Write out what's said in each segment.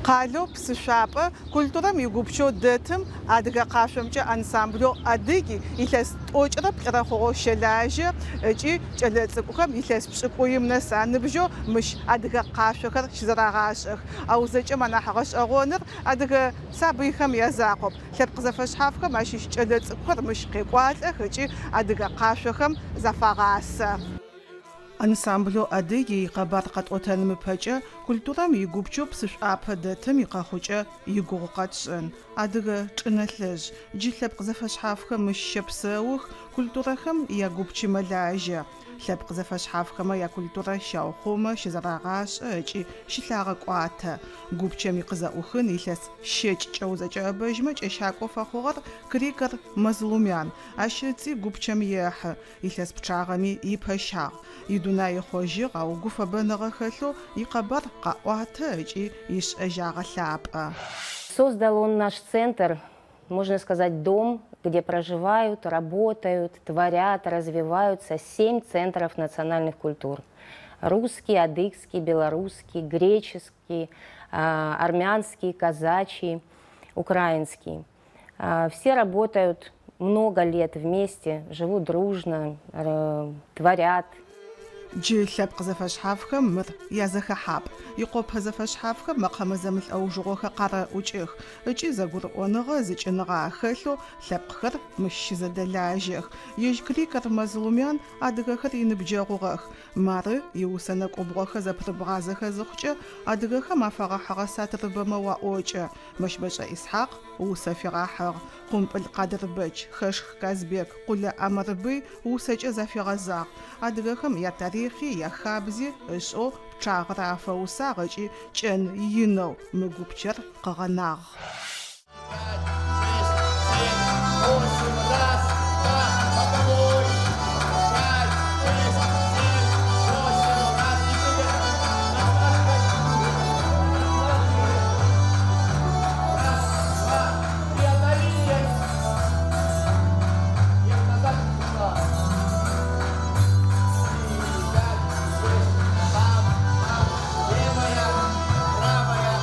Къалэу Псышӏуапӏэ культурэм игупчэу дэтым адыгэ къашъомкӏэ ансамблэу Адыги илъэс 43 хъугъэу щэлажьэ ыкӏи кӏэлэцӏыкӏухэм илъэс 90 нэс аныбжьэу мыщ адыгэ къашъохэр щызэрагъашӏэх. Ау зэкӏэм анахь гъэшӏэгъоныр адыгэ сабыйхэм язакъоп. Лъэпкъ зэфэшъхьафхэм ащыщ кӏэлэцӏыкӏухэр мыщ къекӏуалӏэх ыкӏи адыгэ къашъохэм зафагъасэ. Ансамблэу Адыги икъэбар къэтӏотэным ыпэкӏэ культурэм игупчэу Псышӏуапэ дэтым икъэхъукӏэ игугъу къэтшӏын. Адыгэ чӏынэлъэжъ, джы лъэпкъ зэфэшъхьафхэм мыщ щэпсэух, культурэхэм ягупчи мэлажьэ. Лъэпкъ зэфэшъхьафхэмэ якультурэ щаухъумэ, щызэрагъашӏэ ыкӏи щылъагъэкӏуатэ. Гупчэм икъызэӏухын илъэс 30 узэкӏэӏэбэжьмэ кӏэщакӏо фэхъугъэр Крикор Мазлумян. Ащ ыцӏи гупчэм ехьы. Илъэс пчъагъэми ипэщагъ. Идунай ыхъожьыгъ, ау гуфэбэныгъэ хэлъэу икъэбар къаӏуатэ ыкӏи ишӏэжь агъэлъапӏэ. Создал он наш центр, можно сказать, дом, где проживают, работают, творят, развиваются 7 центров национальных культур. Русский, адыгский, белорусский, греческий, армянский, казачий, украинский. Все работают много лет вместе, живут дружно, творят. Джы лъэпкъ зэфэшъхьафхэм мыр язэхэхьапӏ. Икъопэ зэфэшъхьафхэм мэкъэмэ зэмылӏэужыгъохэр къарэӏукӏых ыкӏи зэгурыӏоныгъэ зыкӏыныгъэ ахэлъэу лъэпкъхэр мыщ щызэдэлажьэх. Ежь Крикор Мазлумян адыгэхэр иныбджэгъугъэх. Мары иусэ нэкӏубгъохэр зэпырыбгъазэхэ зыхъукӏэ адыгэхэм афэгъэхьыгъэ сатырыбэмэ уаӏокӏэ. Мэщбэшӏэ Исхьакъ усэ фигъахьыгъ. Къумпӏыл Къадырбэч, Хэшх Казбек, Къулэ Амэрбый усэкӏэ зафигъэзагъ. Адыгэхэм ятарихъи, яхабзи ышӏэу пчъагъэрэ афэусагъ ыкӏи кӏэн инэу мы гупчэр къыгъэнагъ. 5, 6, 7, 8, раз, два, боковой. 5, 6, 7, 8, раз, и Раз, два, три, отдалили. Нет, назад ушла. 4, 5, 6, там, там, левая, правая.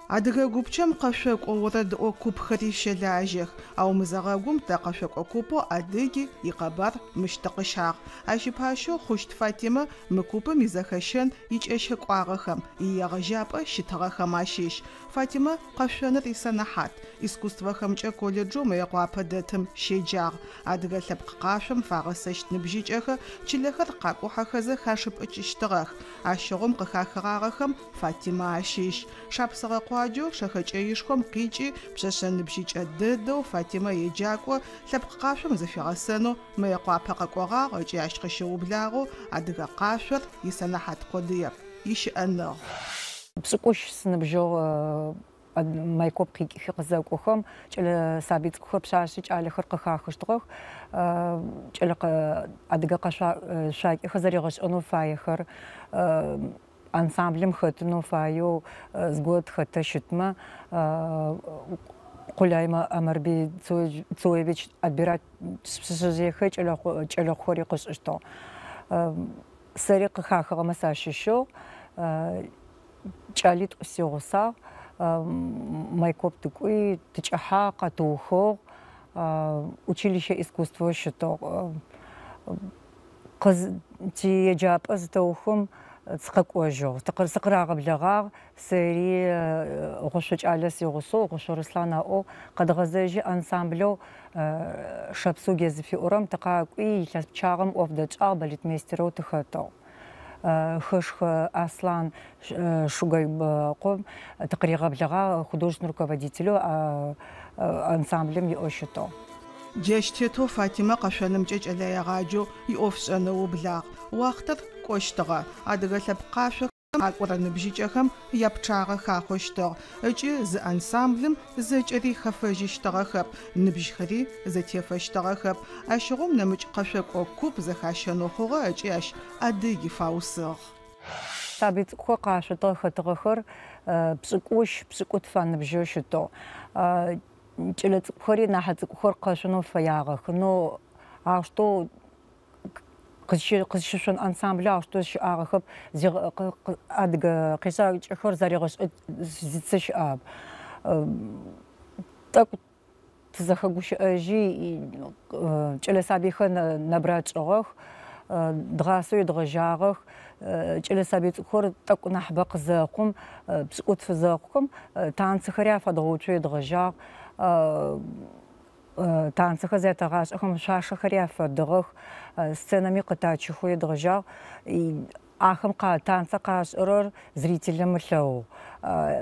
Адыгэ гупчэм къэшъокӏо орэдыӏо купхэри щэлажьэх, ау мызэгъэгум тэ къэшъокӏо купэу Адыги икъэбар мыщ тыкъыщагъ. Ащ ипащэу Хъущт Фатимэ мы купым изэхэщэн икӏэщэкӏуагъэхэм, иегъэжьапӏэ щытыгъэхэм ащыщ. Фатимэ къэшъоныр исэнэхьат, искусствэхэмкӏэ колледжэу Мыекъуапэ дэтым щеджагъ. Адыгэ лъэпкъ къашъом фагъэсэщт ныбжьыкӏэхэр чылэхэр къакӏухьэхэзэ хашыпӏыкӏыщтыгъэх. Ащыгъум къыхахыгъагъэхэм Фатимэ ащыщ. Шапсыгъэ къуаджэу Шэхэкӏэишхом къикӏи пшъэшъэ ныбжьыкӏэ дэдэу Фатимэ еджакӏо лъэпкъ къашъом зыфигъэсэнэу Мыекъуапэ къэкӏогъагъ ыкӏи ащ къыщыублагъэу адыгэ къашъор исэнэхьат къодыеп, ищыӏэныгъ. 70 сыныбжьыгъ Майкоп къикӏыхи къызэкӏохэм кӏэлэ сабый цӏыкӏухэр пшъашъи кӏалэхэр къыхахыщтыгъэх. Кӏэлэ адыгэ къэшъуакӏэхэр зэригъэшӏэнэу фаехэр, ансамблым хэтынэу фаеу зыгот хэтэ щытмэ, Къулай Амэрбый Цоевич отбирать пшъэшъэжъыехэр кӏэлэхъухэри къышӏыщтыгъ. Сэри къыхахыгъэмэ сащыщыгъ. Кӏалитӏу сигъусагъ. Майкоп тыкӏуи, тыкӏыхьагъ, къэтыухыгъ. Училище искусство щытыгъ. Тиеджапӏэ зытэухым сыкъэкӏожьыгъ. Сыкъырагъэблэгъагъ. Сэри Гъушъо кӏалэ сигъусэу, Гъушъо Руслъан аӏоу къэдгъэзэжьи ансамблэу Шапсуге зыфиӏорэм тыкъакӏуи, илъэс пчъагъэм ӏоф дэтшӏагъ, балетмейстерэу тыхэтыгъ. Хэшх Аслъан Шугайкъом тыкъыригъэблэгъагъ художественный руководителэу ансамблым иӏэу щытыгъ. Джащ тетэу Фатимэ къэшъонымкӏэ кӏэлэегъаджэу иӏофшӏэн ыублагъ. Уахътэр кӏощтыгъэ. Адыгэ лъэпкъ къашъохэм къакӏорэ ныбжьыкӏэхэм япчъагъэ хахъощтыгъ ыкӏи зы ансамблым зэкӏэри хэфэжьыщтыгъэхэп, ныбжьхэри зэтефэщтыгъэхэп. Ащыгъум нэмыкӏ къэшъокӏо куп зэхащэнэу хъугъэ ыкӏи ащ Адыги фаусыгъ. Сабый цӏыкӏухэр къашъотыгъэ хэтыгъэхэр 70, 70 аныбжьэу щытыгъ. Кӏэлэцӏыкӏухэри нахь цӏыкӏухэр къэшъонэу фэягъэх. Но аущтэу Къызщышъон ансамблэ аущтэу щыӏагъэхэп, адыгэ къешъакӏэхэр заригъэшӏэ зицэ щыӏагъэп. Тӏэкӏу тызэхэгущыӏэжьи, кӏэлэ сабыйхэр нэбгырэ тшӏыгъэх, дгъасэу едгъэжьагъэх. Кӏэлэ сабый цӏыкӏухэр тӏэкӏу нахьыбэ къызэхъум, пшӏыкӏутф зэхъухэм танцэхэри афэдгъэуцоу едгъэжьагъ. Танцэхэр зятэгъашӏэхэм шъуашэхэри афэдыгъэх, сценэми къытачыхэу едгъэжьагъ. Ахэм танцэ къашӏырэр зрителым ылъэгъугъ.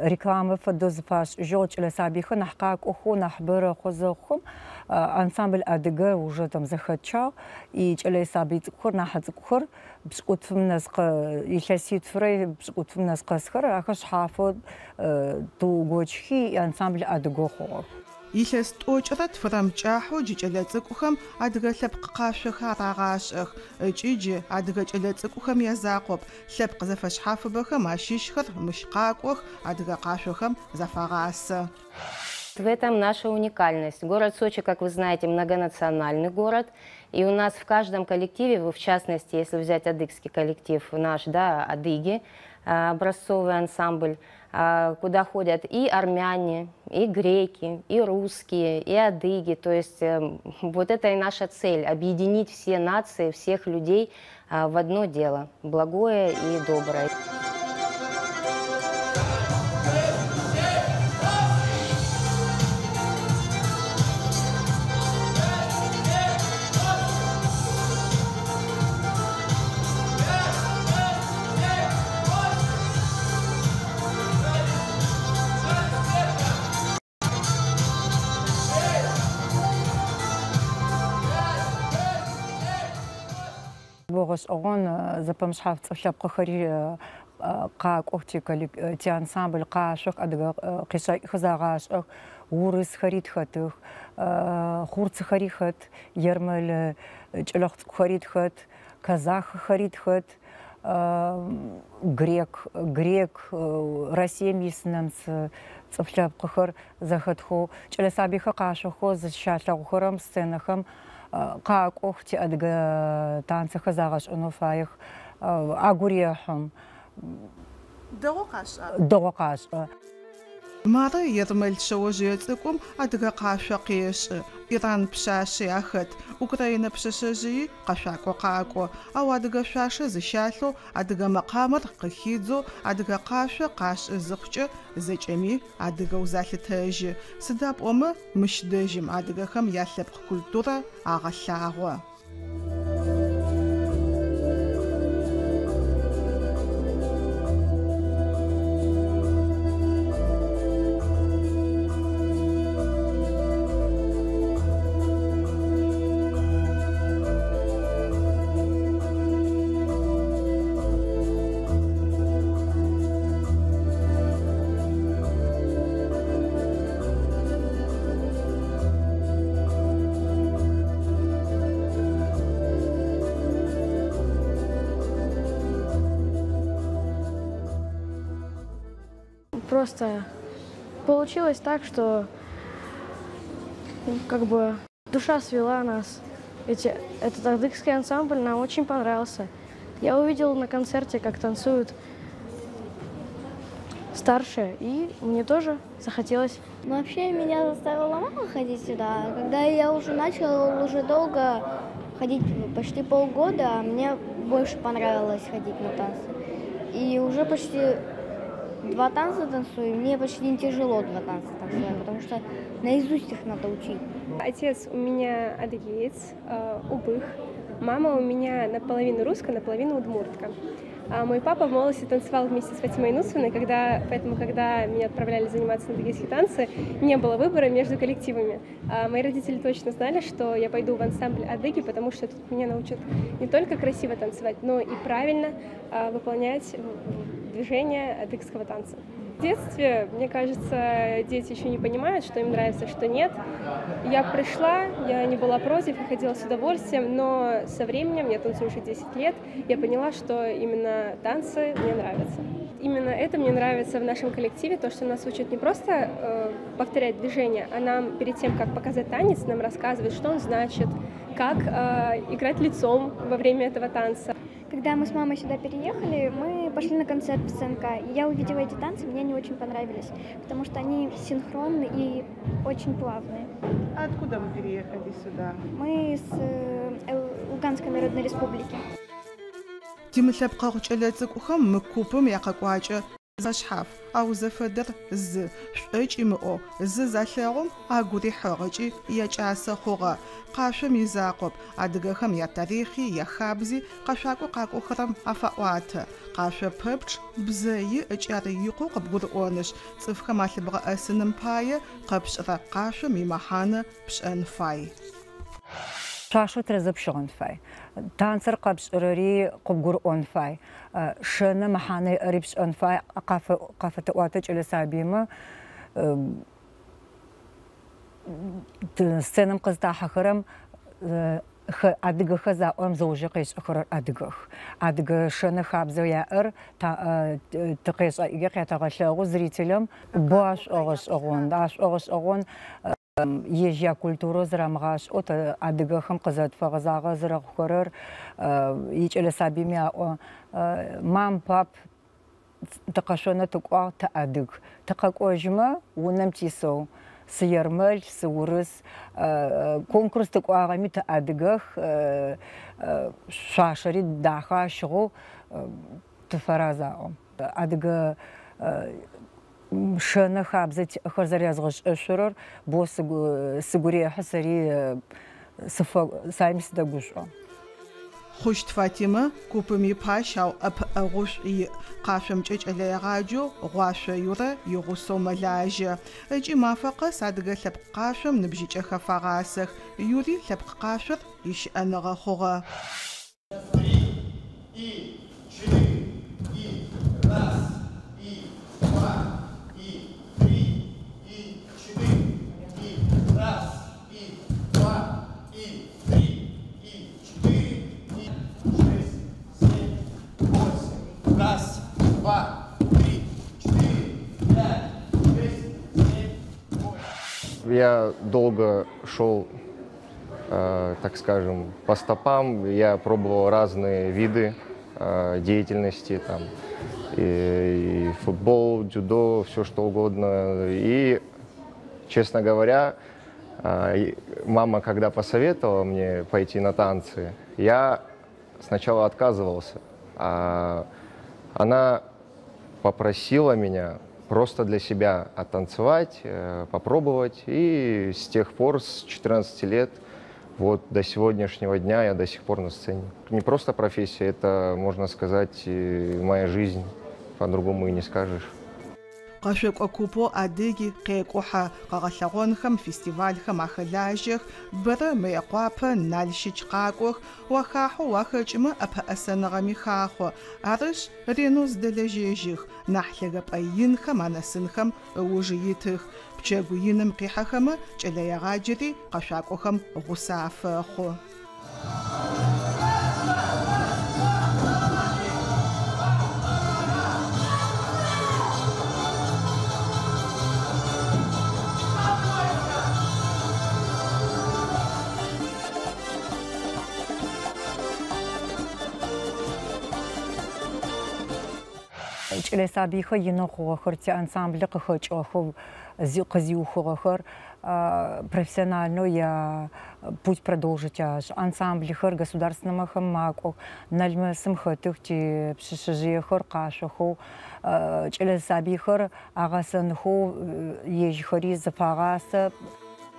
Рекламэ фэдэу зыфашӏыжьыгъ, кӏэлэ сабыйхэр нахь къакӏохэу, нахьыбэ рэхъо зэхъухэм ансамбль Адыгэ уже там зэхэтщагъ. И кӏэлэ сабый цӏыкӏухэр, нахь цӏыкӏухэр пшӏыкӏутфым нэс илъэситфырэ пшӏыкӏутфым нэс къэсхэр ахэр шъхьафэу тыугощхи ансамбль Адыгэ хъугъэх. Илъэс 92 кӏахьэу джы кӏэлэцӏыкӏухэм адыгэ лъэпкъ къашъохэр арагъашӏэх. Ыкӏи джы адыгэ кӏэлэцӏыкӏухэм язакъоп, лъэпкъ зэфэшъхьафыбэхэм ащыщхэр мыщ къакӏох, адыгэ къашъохэм зафагъасэ. В этом наша уникальность. Город Сочи, как вы знаете, многонациональный город. И у нас в каждом коллективе, в частности, если взять адыгский коллектив наш, да, адыги, образцовый ансамбль, куда ходят и армяне, и греки, и русские, и адыги. То есть вот это и наша цель – объединить все нации, всех людей в одно дело – благое и доброе. Богъэшӏэгъон зэпэмышъхьаф цӏыф лъэпкъхэри къакӏох ти ансамбль къашъох, адыгэ къешъакӏхэр загъашӏэх, урысхэри тхэтых, хъурцыхэри хэт, ермэл кӏэлэхъу цӏыкӏухэри тхэт, казаххэри тхэт, грек, Россием ис нэмыц цӏыф лъэпкъхэр зэхэтхэу, кӏэлэ сабыйхэр къашъохэу зыщалъэгъухэрэм сценэхэм къакӏох, ти адыгэ танцэхэр загъэшӏэнэу фаех, агу рехьым. Дэгъоу къашӏа? Дэгъоу къашӏэ. Мары ермэл шъэожъые цӏыкӏум адыгэ къашъо къешӏы. Иран пшъашъи ахэт, Украинэ пшъэшъэжъыйи къэшъуакӏо къакӏо. Ау адыгэ шъуашэ зыщалъэу, адыгэ мэкъамэр къыхидзэу, адыгэ къашъо къашӏы зыхъукӏэ зэкӏэми адыгэу залъытэжьы. Сыда пӏомэ мыщ дэжьым адыгэхэм ялъэпкъ культурэ агъэлъагъо. Просто получилось так, что как бы душа свела нас. Этот адыгский ансамбль нам очень понравился. Я увидела на концерте, как танцуют старшие, и мне тоже захотелось. Вообще меня заставила мама ходить сюда. Когда я уже начала уже долго ходить, почти полгода, мне больше понравилось ходить на танцы. И уже почти 2 танца танцую, и мне почти не тяжело 2 танца танцевать, потому что наизусть их надо учить. Отец у меня адыгеец, убых. Мама у меня наполовину русская, наполовину удмуртка. А мой папа в молодости танцевал вместе с Фатимой Нусовной, поэтому, когда меня отправляли заниматься на адыгейские танцы, не было выбора между коллективами. А мои родители точно знали, что я пойду в ансамбль адыги, потому что тут меня научат не только красиво танцевать, но и правильно выполнять движения адыгского танца. В детстве, мне кажется, дети еще не понимают, что им нравится, что нет. Я пришла, я не была против, я ходила с удовольствием, но со временем, я танцую уже 10 лет, я поняла, что именно танцы мне нравятся. Именно это мне нравится в нашем коллективе, то, что нас учат не просто повторять движения, а нам перед тем, как показать танец, нам рассказывают, что он значит, как играть лицом во время этого танца. Когда мы с мамой сюда переехали, мы пошли на концерт в ЦНК. И я увидела эти танцы, мне они очень понравились, потому что они синхронны и очень плавные. А откуда вы переехали сюда? Мы с Луганской Народной Республики. Тимылъэпкъэгъу кӏэлэцӏыкӏухэм мы купым якъэкӏуакӏэ зэшъхьаф, ау зэфэдэр зы, шӏокӏ имыӏэу, зы залъэгъум агу рихьыгъ ыкӏи якӏасэ хъугъэ. Къашъом изакъоп, адыгэхэм ятарихъи, яхабзи къэшъуакӏо къакӏохэрэм афаӏуатэ. Къашъо пэпчъ бзэ иӏ ыкӏи ар икъоу къыбгурыӏонышъ, цӏыфхэм алъыбгъэӏэсыным пае къэпшӏырэ къашъом имэхьанэ пшӏэн фай. Шъуашэу тэрэзэу пщыгъын фай. Танцэр къэпшӏырэри къыбгурыӏон фай. Шэнэ мэхьанэ иӏэри пшӏэн фай. Къафэтэӏуатэ кӏэлэ сабыймэ сценэм къызтахьэхэрэм адыгэхэр заӏорэм зэужэ къешӏэхэрэр адыгэх. Адыгэ шэнэ хабзэу яӏэр тыкъешӏэ къятэгъэлъэгъу зрителям бо ашӏогъэшӏэгъон. Ашӏогъэшӏэгъон ежь якультурэ зэрамыгъашӏэу адыгэхэм къызэтфэгъэзагъэ зэрэхъухэрэр икӏэлэ сабыйми аӏо мам, пап, тыкъэшъонэ тыкӏуагъ, тыадыг. Тыкъэкӏожьмэ унэм тисэу сыермэл, сыурыс, конкурс тыкӏуагъэми тыадыгэх, шъуашэри дахэ ащыгъэу тыфэраз аӏо. Адыгэ шэнэ хабзэ тиӏэхэр зэрязгъэшӏэшъурэр бо сыгу рехьы, сэри саими сыдэгушӏо. Хъущт Фатимэ купым ипащ, ау ӏэпыӏэгъушӏу иӏ. Къашъомкӏэ кӏэлэегъаджэу Гъуашъо Юрэ игъусэу мэлажьэ. Ыкӏи мафэ къэс адыгэ лъэпкъ къашъом ныбжьыкӏэхэр фагъасэх. Юри лъэпкъ къашъор ищыӏэныгъэ хъугъэ. 3 и 4 и 1 и 2 и 3 и 4 и 1 и 2 и 3 и 4 и 6, 7, 8. 1, 2, 3, 4, 5, 6, 7, 8. Я долго шел, так скажем, по стопам. Я пробовал разные виды деятельности, там, и футбол, дзюдо, все что угодно. И, честно говоря, мама, когда посоветовала мне пойти на танцы, я сначала отказывался. А она попросила меня просто для себя оттанцевать, попробовать. И с тех пор, с 14 лет, вот до сегодняшнего дня я до сих пор на сцене. Не просто профессия, это, можно сказать, моя жизнь. По-другому и не скажешь. Къэшъокӏо купэу Адыги къекӏухьэ, къэгъэлъэгъонхэм, фестивальхэм ахэлажьэх, бэрэ Мыекъуапэ, Налщыч къакӏох, уахахьэу уахэкӏымэ ӏэпэӏэсэныгъэми хахъо. Арышъ, ренэу зыдэлэжьэжьых, нахь лъэгэпӏэ инхэм анэсынхэм ыуж итых. Пчэгу иным къихьэхэмэ кӏэлэегъаджэри къэшъуакӏохэм гъусэ афэхъу. Кӏэлэ сабыйхэр инэу хъугъэхэр, ти ансамблэ къыхэкӏыгъэхэу, къызиухыгъэхэр профессиональнэу я путь продолжить ашӏы. Ансамблэхэр государственнэмэхэм макӏох, Налмэсым хэтых ти пшъэшъэжъыехэр къашъохэу, кӏэлэ сабыйхэр агъэсэнхэу ежьхэри зыфагъасэ.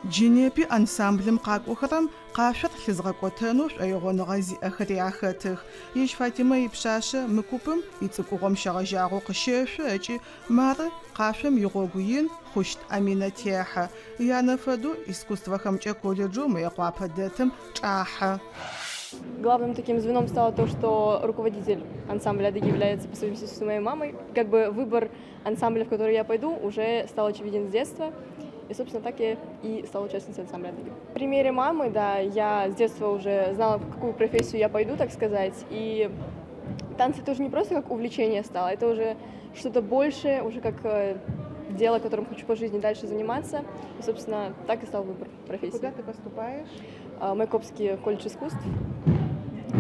Джы непи ансамблым къакӏохэрэм къашъор лъызгъэкӏотэнэу шӏоигъоныгъэ зиӏэхэри ахэтых. Ежь Фатимэ ипшъашъэ мы купым ицӏыкӏугъом щегъэжьагъэу къыщэшъо ыкӏи мары къашъом игъогу ин Хъущт Аминэ техьэ. Янэ фэдэу искусствэхэмкӏэ колледжэу Мыекъуапэ дэтым чӏахьэ. Главным таким звеном стало то, что руководитель ансамбля «Адыги» является по совместительству моей мамой. Как бы выбор ансамбля, в который я пойду, уже стал очевиден с детства. И, собственно, так я и стала участницей ансамбля «Адыги». В примере мамы, да, я с детства уже знала, в какую профессию я пойду, так сказать. И танцы тоже не просто как увлечение стало, это уже что-то большее, уже как дело, которым хочу по жизни дальше заниматься. И, собственно, так и стал выбор профессии. Куда ты поступаешь? Майкопский колледж искусств,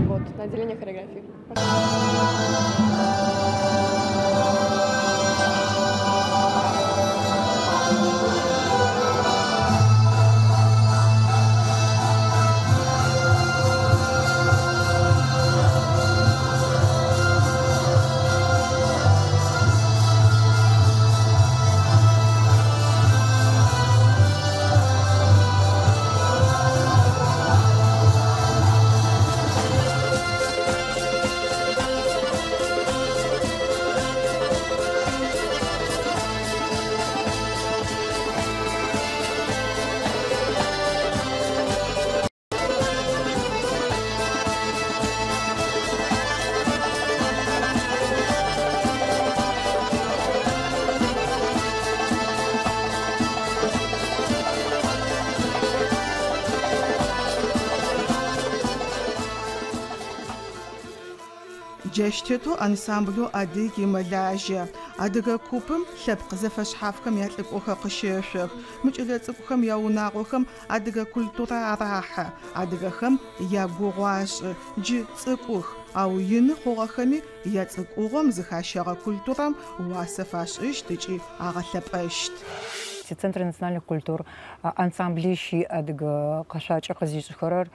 вот, на отделение хореографии. Джащ тетэу ансамблэу «Адыги» мэлажьэ. Адыгэ купым лъэпкъ зэфэшъхьафхэм ялӏыкӏохэр къыщэшъох. Мы кӏэлэцӏыкӏухэм яунагъохэм адыгэ культурэ арахьэ. Адыгэхэм ягугъу ашӏы. Джы цӏыкӏух, ау ины хъугъэхэми яцӏыкӏугъом зыхащэгъэ культурэм уасэ фашӏыщт ыкӏи агъэлъэпӏэщт. Центр национальных культур ансамблищ иӏ адыгэ къэшъуакӏэ къызишӏыхэрэр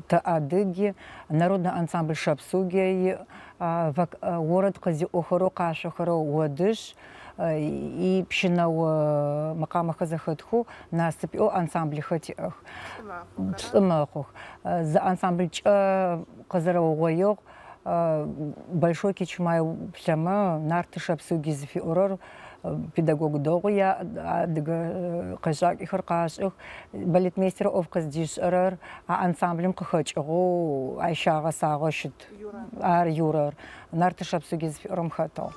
тэ Адыги, народный ансамбль Шапсугия иӏ, орэд къызиӏохэрэу къашъохэрэу Одыш, и пщынэо мэкъамэхэр зэхэтхэу насып иӏэу ансамблэхэр тиӏэх. Плӏы мэхъух. Зы ансамблькӏэ къызэрэугъоигъ Большой Кичмай плъэмэ Нарты Шапсуги зыфиӏорэр педагог дэгъу яӏ, адыгэ къэшъакӏэхэр къашӏых. Балетмейстер ӏоф къыздишӏэрэр а ансамблым къыхэкӏыгъэу ащ щагъэсагъэу щыт. Ар Юрэр. Нарты Шапсуги зыфиӏорэм хэтыгъ.